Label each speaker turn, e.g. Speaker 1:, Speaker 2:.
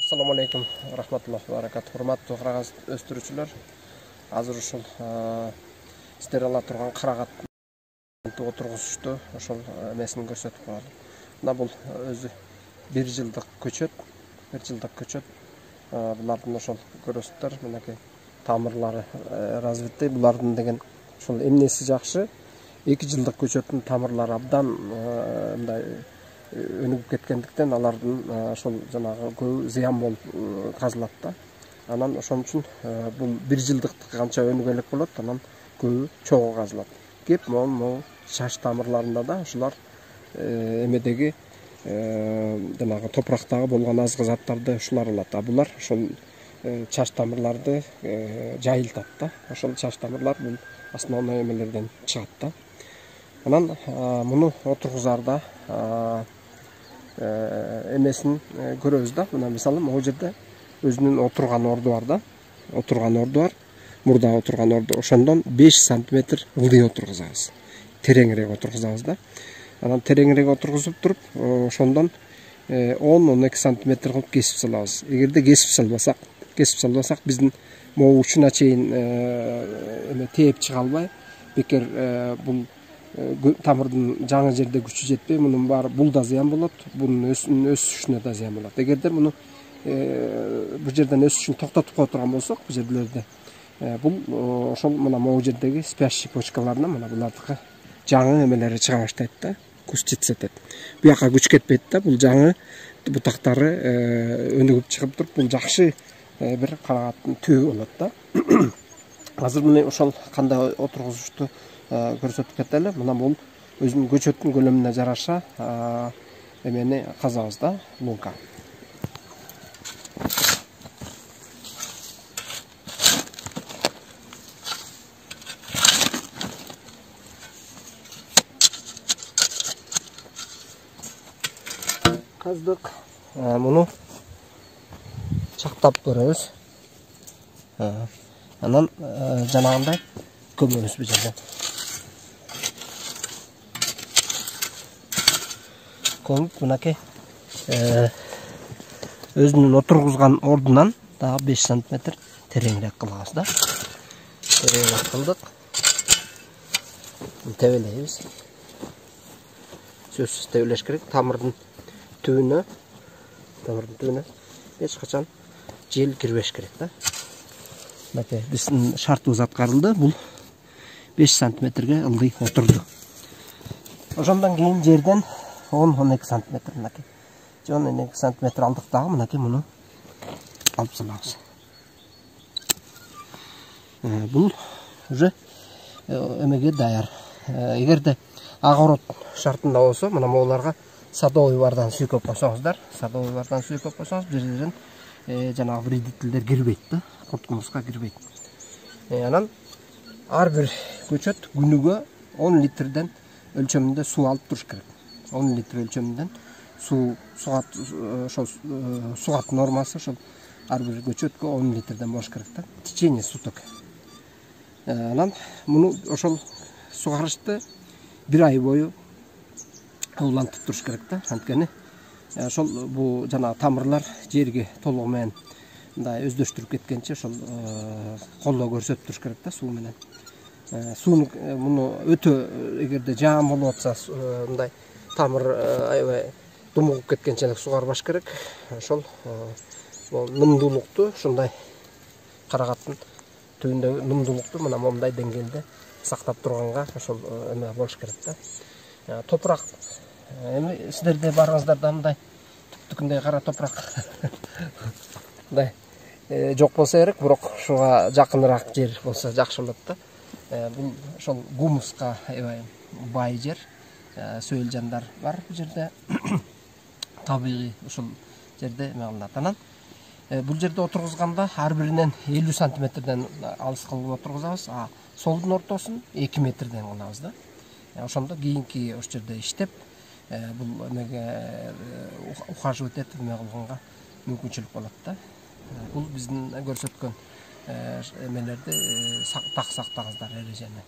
Speaker 1: Assalamu alaikum rahmatullohi va barakatuh. Hurmatli караган өстүрүүчүлөр, азыр ушул сиздер ала турган карагатты отургузушту, ошол эмесин көрсөтүп коелу. Мына бул өзү 1 жылдык көчөт. Булардын ошол көрөсүздөр, мынакей тамырлары развитый. Булардын деген ошол эмнеси жакшы? 2 жылдык көчөттүн тамырлары абдан мындай өнүгүп кеткендиктен алардын ошол жанагы көбү зыян болуп казылат да. Анан ошон үчүн бул 1 жылдыктыкы канча өнүгө элек болот, анан көбү чогуу казылат. Кеп могу чаш тамырларында да ушулар эмедеги жанагы топурактагы болгон азгы заттарды ушулар алат. А булар ошол чаш тамырларды жайылтат да. Ошол чаш тамырлар бул основной эмелерден чыгат да. Анан муну отургузарда эмесин көрөбүз да. Мына мисалы могу жерде өзүнүн отурган орду бар да. Мурда отурган орду. Ошондон 5 см ылдый отургузабыз. Тереңирээк отургузабыз да. Анан тереңирээк отургузуп туруп, ошондон 10-12 см кылып кесип салабыз. Эгерде кесип салбасак, биздин могу учуна чейин эме тээп чыга албай, бекер бул тамырдын жаңы жерде күчү жетпей, мунун баары бул да зыян болот, бунун өсүшүнө да зыян болот. Эгерде муну бул жерден өсүшүн токтотуп кое турган болсок, бул жерлерде бул ошол мына могу жердеги спящий почкаларына мына булардыкы жаңы эмелери чыга баштайт да, куз жетсетет. Буяка күч кетпейт да, бул жаңы бутактары өнүгүп чыгып туруп, бул жакшы бир карагаттын түбү болот да. Азыр мына ошол кандай отургузушту көрсөтүп кетели. Мына бул өзүнүн көчөттүн көлөмүнө жараша эмени казабыз да, лунка. Каздык. Муну чактап көрөбүз. Анан жанагындай көмөбүз бул жерде. Көмүп мынакей өзүнүн отургузган ордунан дагы 5 см тереңирээк кылабыз да. Тереңирээк кылдык. Тебелейбиз. Сөзсүз тебелеш керек. Тамырдын түбүнө эч качан жел кирбеш керек да. Мынакей биздин шартыбыз аткарылды. Бул 5 см ылдый отурду. Ошондон кийин жерден 10-12 см мынакей. 10-12 см алдык дагы мынакей муну алып салабыз. Бул уже эмеге даяр. Эгерде огород шартында болсо, мына могуларга садовый бардан сүйкөп койсоңуздар, бул жерден жанагы вредительдер кирбейт да, курт кумурска кирбейт. Анан ар бир көчөт күнүгө 10 литрден өлчөмүндө суу алып туруш керек. 10 литр өлчөмүндөн суу сугат нормасы ошол ар бир көчөткө 10 литрден болуш керек да. В течение суток. Анан муну ошол сугарышты 1 ай бою улантып туруш керек да. Анткени ошол бул жана тамырлар жерге толугу менен мындай өздөштүрүп кеткенче ошол колдоо көрсөтүп туруш керек да суу менен. Сууну муну өтө эгерде жаан болуп атса, мындай тамыр аябай думугуп кеткенче сугарбаш керек. Ошол нымдуулукту, ушундай карагаттын түбүндөгү нымдуулукту мына момундай деңгээлде сактап турганга ошол эме болуш керек да. Топурак эми сиздерде барыңыздарда мындай түптүкүндөй кара топурак мындай жок болсо керек, бирок ушуга жакыныраак жер болсо жакшы болот да. Бул ошол гумуска аябай бай жер, сөөл жандар бар бул жерде. Табигый ошол жерде эме кылынат. Анан бул жерде отургузганда ар биринен 50 см алыс кылып отургузабыз, а солдун ортосун 2 метрден кылабыз да. Ошондо кийинки ош жерде иштеп бул эмеге ухаживать этип эме кылганга мүмкүнчүлүк болот да. Бул биздин көрсөткөн эмелерди так сактаңыздар, эрежени.